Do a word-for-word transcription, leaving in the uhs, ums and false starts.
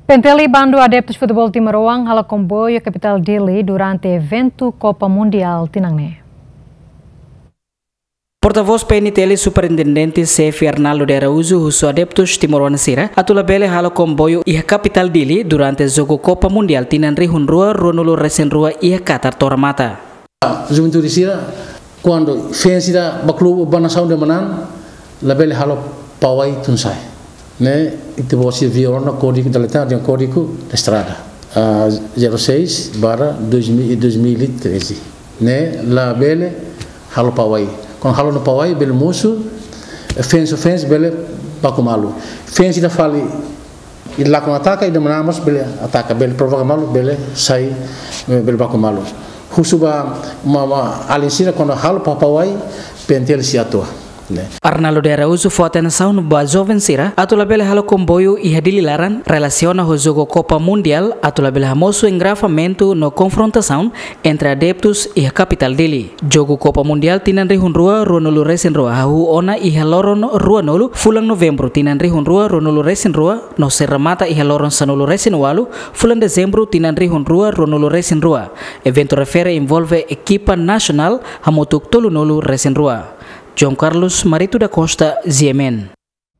PNTL bandu adeptus futeból timoroan halo komboiu iha kapitál Dili durante eventu Copa Mundial tinan ne'e. Portavós PNTL Superintendente Xefe Arnaldo de Araújo husu adeptus timoroan sira atu labele halo komboiu iha kapitál Dili durante jogu Copa Mundial tinan rihun rua ruanulu resin rua iha Qatar to'o remata. Juventude sira, kuandu feen sira ba klube, ba nasaun de'it manán, labele halo pawai tun sa'e. Ne'e, ita-boot sira viola ona kódigu da letra, dehan kódigu da estrada, ah, zero seis barra dois mil, dois mil e treze. Ne'e, labele halo pawai. Kuandu halo ona pawai, bele mosu, feen, feen bele baku malu. Feen sira fali, ida lakon ataka, ida manán mós bele ataka, bele provoka malu, bele sai, eh, bele baku malu. Husu ba ma, ma, alin sira kuandu halo pa-, pawai, PNTL sei atua, ne'e. Arnaldo de Araújo fó atensaun ba joven sira atu labele halo komboiu iha Dili laran relasiona ho jogu Copa Mundial atu labele hamosu engarrafamentu no konfrontasaun entre adeptus iha kapitál Dili. Jogu Copa Mundial tinan rihun rua ruanulu resin rua hahú ona iha loron ruanulu fulan Novembru tinan rihun rua ruanulu resin rua no sei remata iha loron sanulu resin ualu fulan Dezembru tinan rihun rua ruanulu resin rua. Eventu refere envolve ekipa nasionál hamutuk tolunulu resin rua. João Carlos Marito da Costa, G M N.